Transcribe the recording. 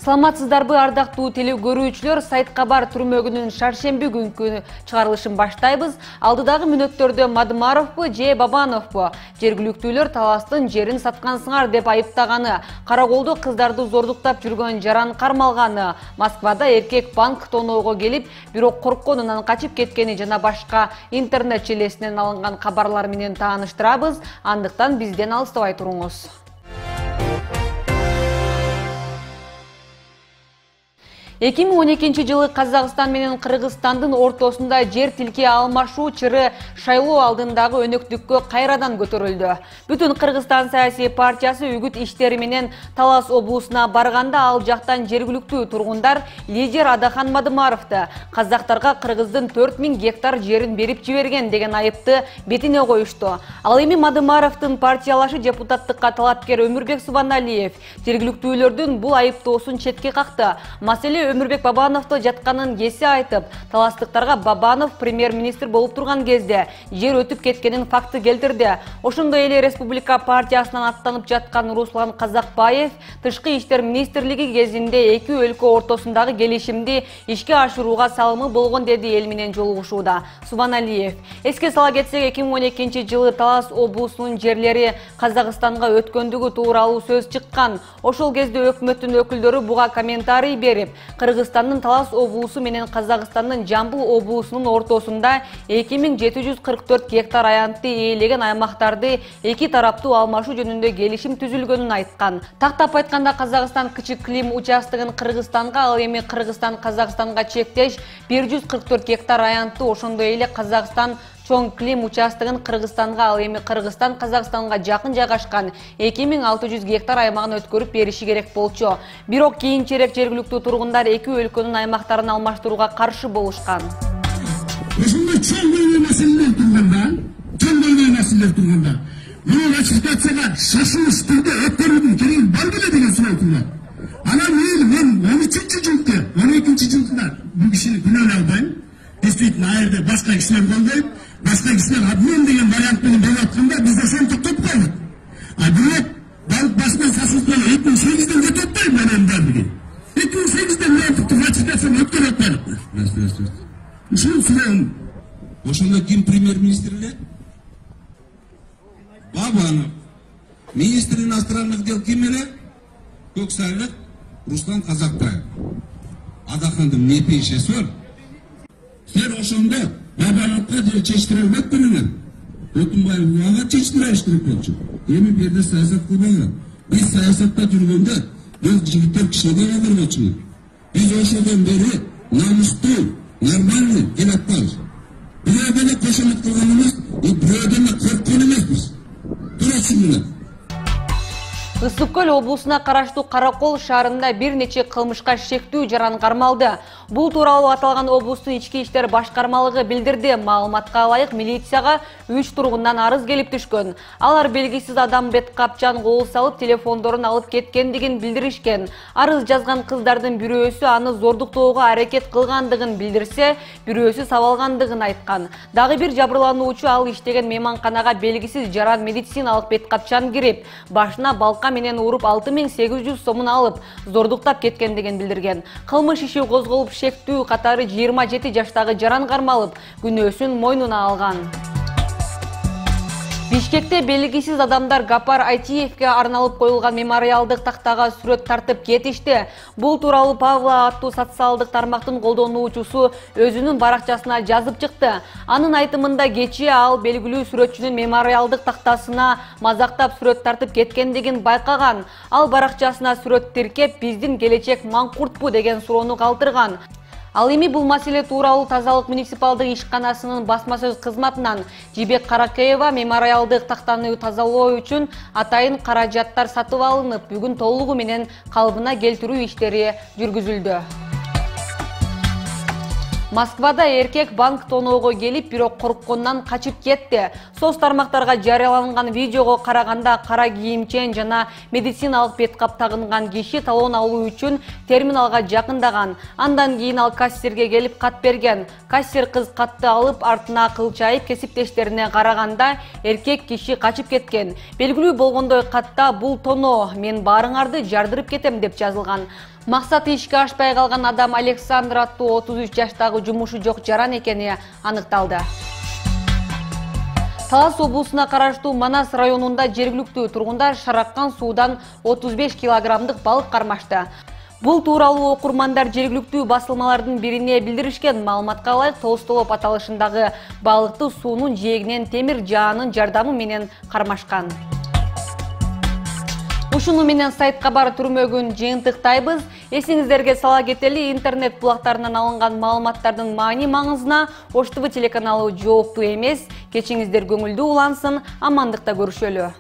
Саламатсыздарбы ардактуу теле көрүүчүлөр, Сайт Кабар түрмөгүнүн шаршемби күнкү чыгарылышын баштайбыз. Алдыдагы мүнөттөрдө Мадымаровбу же Бабановбу жергиликтүүлөр таластын жерин саткансыңар деп айыптаганы, Караколдо кыздарды зордуктап жүргөн жаран кармалганы, Москвада эркек банк тоноого келип, бирок коркконунан качып кеткени жана башка интернет желесинен алынган кабарлар менен тааныштырабыз. Андыктан бизден алыстабай туруңуз. 2012 жылы Казакстан менен Кыргызстандын ортосунда жер тилке алмашуу чыры шайлоо алдындагы өнөктүккө кайрадан көтөрүлдү. Бүтүн Кыргызстан саясий партиясы үгүт иштери менен Талас облусуна барганда, ал жактан жергиликтүү тургундар лидер Адахан Мадымаровду казактарга Кыргыздын 4000 гектар жерин берип жиберген деген айыпты бетине коюшту. Ал эми Мадымаровдун партиялашы депутаттыкка талапкер Өмүрбек Субаналиев жергиликтүүлөрдүн бул айыптоосун четке какты. Маселе Өмүрбек Бабановдо жатканын кесе айтып, таластыктарга Бабанов премьер-министр болуп турган кезде жер өтүп кеткенин факты келтирди. Ошондой эле Республика партиясынан аттанып жаткан Руслан Казакбаев Тышкы иштер министрлиги кезинде эки өлкө ортосундагы келишимди ишке ашырууга салымы болгон деди эл менен жолугушууда. Субаналиев эске сала кетсек, 2012 жылы Талас облусунун жерлери Казакстанга өткөндүгү тууралуу сөз чыккан. Ошол кезде өкмөттүн өкүлдөрү буга комментарий берип, Кыргызстандын Талас облусу менен Казакстандын Жамбыл облусунун ортосунда 2744 гектар аянтты ээлеген аймактарды эки тараптуу алмашуу жөнүндө келишим түзүлгөнүн айткан. Тактап айтканда, Казакстан Кычык Клим участогун Кыргызстанга, ал эми Кыргызстан Казакстанга чектеш 144 гектар аянтты, ошондой эле Казакстан Чоң Клим участогун Кыргызстанга, ал эми Кыргызстан Казакстанга жакын жайгашкан 2600 гектар аймагын өткөрүп бериши керек болчу. Бирок кийинчерээк жергиликтүү тургундар эки өлкөнүн аймактарын алмаштырууга каршы болушкан. Ошондой чоң маселелер турганда, муну ратификацияга шашылыш түрдө өткөрүүнүн кереги бар беле деген суроо туурат. Анан мен 12 жылда бул кишини күнөөлөй албайм. Действительно, айрда башка кишилер колдойт, башка кишилер обмен деген вариант менен болуп атканда, биз ошону токтоп койдук. А бирок балык башынан сасылып 2008-ден кетип атпайбы менин бардыгы. 2008-ден мен ратификацияны өткөрүп атпайбы. Ушул суроом. Ошондо ким премьер-министр эле? Бабанов. Министр иностранных дел ким эле? Көксайлык Руслан Казакбаев. Адахандын не пейшеси бар? Сен ошондо Бабановго чечтире албайт белеңер. Өтүнбаев ага чечтириш керек болчу. Эми бу жерде саясат кылбайбыз. Биз саясатта жүргөндө бул жигиттер кишиге калтырбачу. Биз ошодон бери намустуу, нормальный эл атпайбыз. Бирөөдөн эле кошомот кылган эмес, бирөөдөн эле корккон эмеспиз. Туура түшүнүңөр. Ысык Көл облусуна караштуу Каракол шаарында бир нече кылмышка шектүү жаран кармалды. Бул тууралуу аталган облустун ички иштер башкармалыгы билдирди. Маалыматка ылайык, милицияга 3 тургундан арыз келип түшкөн. Алар белгисиз адам бет капчан кол салып, телефондорун алып кеткендигин билдиришкен. Арыз жазган кыздардын бирөөсү аны зордуктоого аракет кылгандыгын билдирсе, бирөөсү сабалгандыгын айткан. Дагы бир жабырлануучу ал иштеген мейманканага белгисиз жаран медициналык бет капчан кирип, башына балка менен уруп 6800 сомун алып, зордуктап кеткендигин билдирген. Кылмыш иши козголуп, шектүү катары 27 жаштагы жаран кармалып, күнөөсүн мойнуна алган. Бишкекте белгисиз адамдар Гапар Айтиевке арналып коюлган мемориалдык тактага сүрөт тартып кетишти. Бул тууралуу Павла аттуу социалдык тармактын колдонуучусу өзүнүн баракчасына жазып чыкты. Анын айтымында, кечээ ал белгилүү сүрөтчүнүн мемориалдык тактасына мазактап сүрөт тартып кеткендигин байкаган. Ал баракчасына сүрөт тиркеп, биздин келечек маңкуртпу деген суроону калтырган. Ал эми бул маселе тууралуу Тазалык муниципалдык ишканасынын басма сөз кызматынан Жибек Каракеева мемориалдык тактаны тазалоо үчүн атайын каражаттар сатып алынып, бүгүн толугу менен калыбына келтирүү иштери жүргүзүлдү. Москвада эркек банк тоноого келип, бирок коркконунан качып кетти. Соц тармактарга жарыяланган видеого караганда, кара кийимчен жана медициналык бет кап тагынган киши талон алуу үчүн терминалга жакындаган. Андан кийин ал кассирге келип кат берген. Кассир кыз катты алып, артына кылчайып кесиптештерине караганда, эркек киши качып кеткен. Белгилүү болгондой, катта "Бул тоно, мен баарыңарды жардырып кетем" деп жазылган. Максаты ишке ашпай калган адам Александр аттуу 33 жаштагы жумушу жок жаран экени аныкталды. Талас облусуна караштуу Манас районунда жергиликтүү тургундар шараккан суудан 35 килограммдык балык кармашты. Бул тууралуу окурмандар жергиликтүү басылмалардын бирине билдиришкен. Маалыматка ылайык, Толстолоп аталышындагы балыкты суунун жээгинен темир жаанын жардамы менен кармашкан. Ушуну менен сайт кабар түрмөгүн жыйынтыктайбыз. Эсиңиздерге сала кетели, интернет булактарынан алынган маалыматтардын маани-маңызына Ош ТВ телеканалы жооптуу эмес. Кечиңиздер көңүлдүү улансын, амандыкта көрүшөлү.